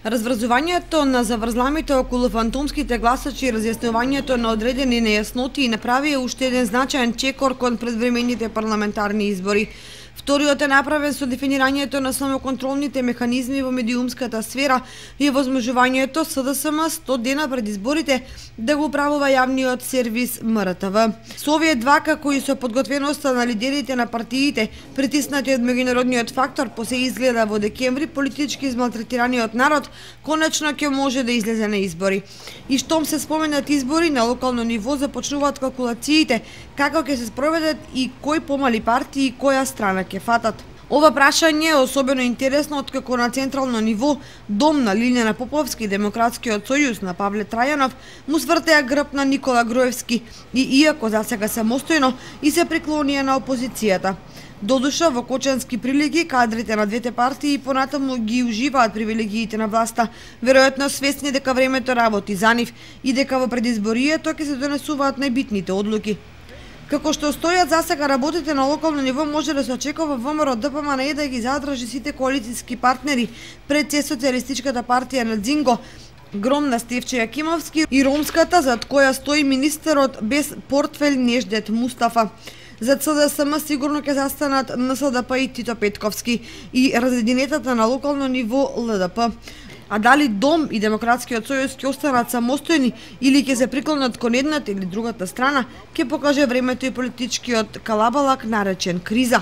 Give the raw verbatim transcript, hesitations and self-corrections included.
Разврзувањето на заврзламите околу фантомските гласачи и разјаснувањето на одредени нејасноти направија уште еден значаен чекор кон предвремените парламентарни избори. Вториот е направен со дефинирањето на самоконтролните механизми во медиумската сфера и возможувањето СДСМ сто дена пред изборите да го управува јавниот сервис М Р Т В. Со овие два, како и со подготвеноста на лидерите на партиите, притиснати од меѓународниот фактор, по се изгледа во декември политички измалтретираниот народ конечно ќе може да излезе на избори. И штом се споменат избори на локално ниво, започнуваат калкулациите како ќе се спроведат и кои помали партии и која страна ќе фатат. Ова прашање е особено интересно откако на централно ниво дом на Лилјана Поповски и Демократскиот сојуз на Павле Трајанов му свртеа грб на Никола Груевски и иако засега самостојно и се приклонија на опозицијата. Додуша во кочански прилики кадрите на двете партии понатаму ги уживаат привилегиите на власта, веројатно свесни дека времето работи за нив и дека во предизборието ќе се донесуваат најбитните одлуки. Како што стојат засега работите на локално ниво, може да се очекува ВМРО Д П М Н да ги задржи сите коалицијски партнери пред се Социјалистичката партија на Дзинго, Гром на Стефче Јакимовски и ромската зад која стои министерот без портфел Неждет Мустафа. За Ц Д С М сигурно ќе застанат Н С Д П и Тито Петковски и разединетата на локално ниво Л Д П. А дали Дом и Демократскиот сојуз ќе останат самостојни или ќе се приклонат кон едната или другата страна, ќе покаже времето и политичкиот калабалак наречен криза.